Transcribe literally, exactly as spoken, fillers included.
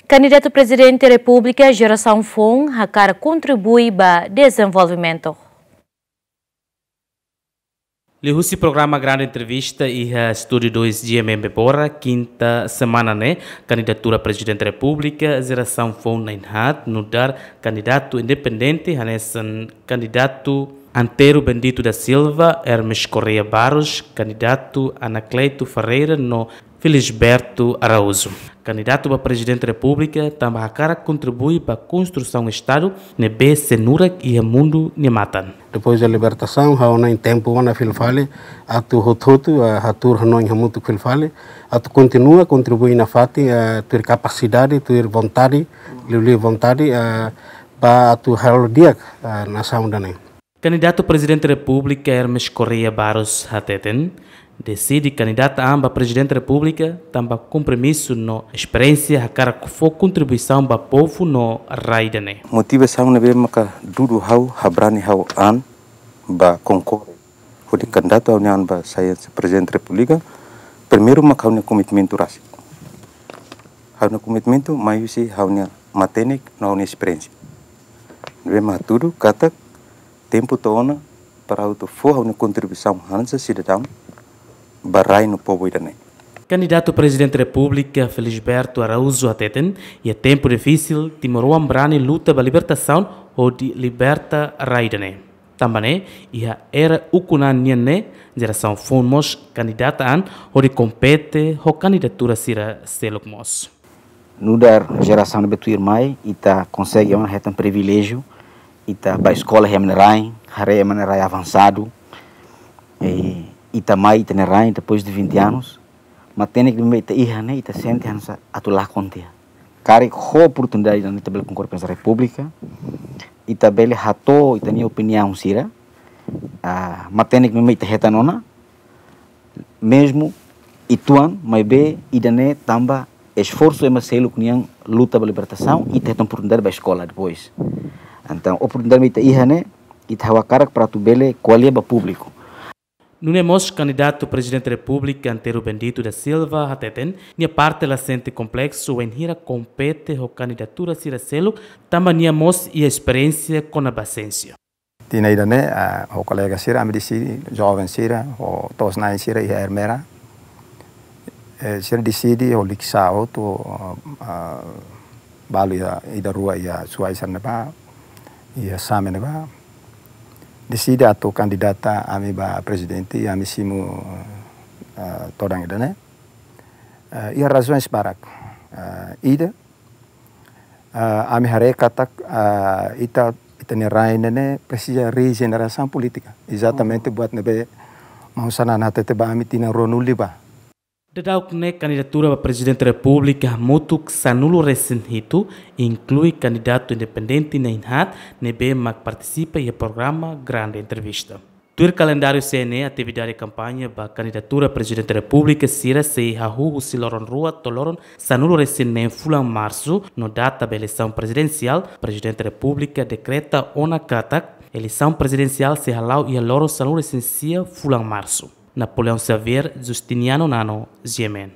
Kandidatu Prezidente Repúblika Geração Foun hakarak kontribui ba dezenvolvimentu. Liuhusi programa Grande Entrevista iha Estúdiu dois G M M Bora, kinta semana ne'e, kandidatura Prezidente Repúblika Geração Foun na'in-haat, nu'udar kandidatu independente, hanesan kandidatu Antero Bendito da Silva, Hermes Correia Barros, kandidatu Anacleto Ferreira no Felisberto Araújo. Kandidatu ba Prezidente Repúblika tanba hakarak kontribui ba konstrusaun Estadu ne'ebé sei nurak iha mundu nia matan. Depois da libertasaun, ha'u-nia tempu ona fila fali atu hotu-hotu, eh, hatuur hanoin hamutuk fila fali atu kontinua kontribui nafatin, eh, tuir kapasidade, tuir vontade, liuliu vontade, eh, ba atu halo di'ak, eh, nasaun ida-ne'e. Kandidatu Prezidente Repúblika Hermes Correia Barros hateten, deside kandidata an ba Prezidente Repúblika tanba kompromisu no esperiénsia hakarak fó kontribuisaun ba povu no rai ida-ne'e. Motivasaun ne'ebé maka dudu ha'u habrani ha'u an ba konkorre hodi kandidatu ha'u-nia an ba sai Prezidente Repúblika, primeiru maka ha'u-nia komitmentu rasik. Ha'u-nia komitmentu mai husi ha'u-nia matenek no ha'u-nia esperiénsia. Ne'ebé mak hatudu katak tempu to'o ona para ha'u atu fó ha'u-nia kontribuisaun hanesan sidadaun ba rai no povu ida-ne'e. Kandidatu Prezidente Repúblika Felisberto Araújo hateten, iha tempu difisil, timoroan brani luta ba libertasaun hodi liberta rai ida-ne'e. Tanba ne'e, iha era ukun an nian ne'e, Geração Foun mós kandidata an hodi kompete ho kandidatura sira seluk mós. Nu'udar jerasaun ne'ebé tuirmai, ita konsege ona hetan priviléjiu, ita bá eskola iha ema nia rain, haree ema nia rai avansadu, i ita mai ita-nia rain depois de vinte anos, matenek ne'ebé ita iha ne'e, ita sente hanesan atu lakon tiha. Karik ho oportunidade ida-ne'e ita bele konkorre Prezidente Repúblika, ita bele hato'o ita-nia opiniaun sira, ah, matenek ne'ebé ita hetan ona, mezmu uitoan, maibé ida-ne'e tanba esforsu ema seluk nian luta ba libertasaun, ita hetan oportunidade bá eskola depois. Entaun, oportunidade ne'ebé ita iha ne'e, ita hakarak para atu bele ko'alia ba públiku. Nune'e mós kandidatu Prezidente Repúblika Antero Bendito da Silva hateten, nia parte la sente kompleksu wainhira kompete ho kandidatura sira seluk, tanba nia mós iha esperiénsia kona-ba siénsia. Tinan ida-ne'e, ah, ho kolega sira, ami deside, joven sira, ho to'os-na'in sira iha Ermera. Eh, sira deside, ho liksa hotu, ah, balu iha, ida rua iha Suai sira ne'ebá, iha Same ne'ebá. Deside atu kandidata ami ba prezidente, ami simu, ah, todan ida-ne'e. Ah, iha razaun barak. Ah, ida, ah, ami haree katak, ah, ita, ita-nia rain ne'e presiza rejenerasaun polítika. Ezatamente buat ne'ebé maun Xanana hatete ba ami tinan ruanulu liubá. Daudauk ne'e kandidatura ba Prezidente Repúblika hamutuk sanulu-resin-hitu, inklui kandidatu independente na'in-haat ne'ebé mak partisipa iha programa Grande Entrevista. Tuir kalendáriu C N E, atividade kampaña ba kandidatura Prezidente Repúblika sira sei hahú husi loron rua to'o loron sanulu-resin-neen fulan Marsu, no data ba eleisaun prezidensiál, Prezidente Repúblika dekreta ona katak eleisaun prezidensiál sei hala'o iha loron sanulu-resin-sia fulan Marsu. Napoleão Xavier, Justiniano Nano, G M N.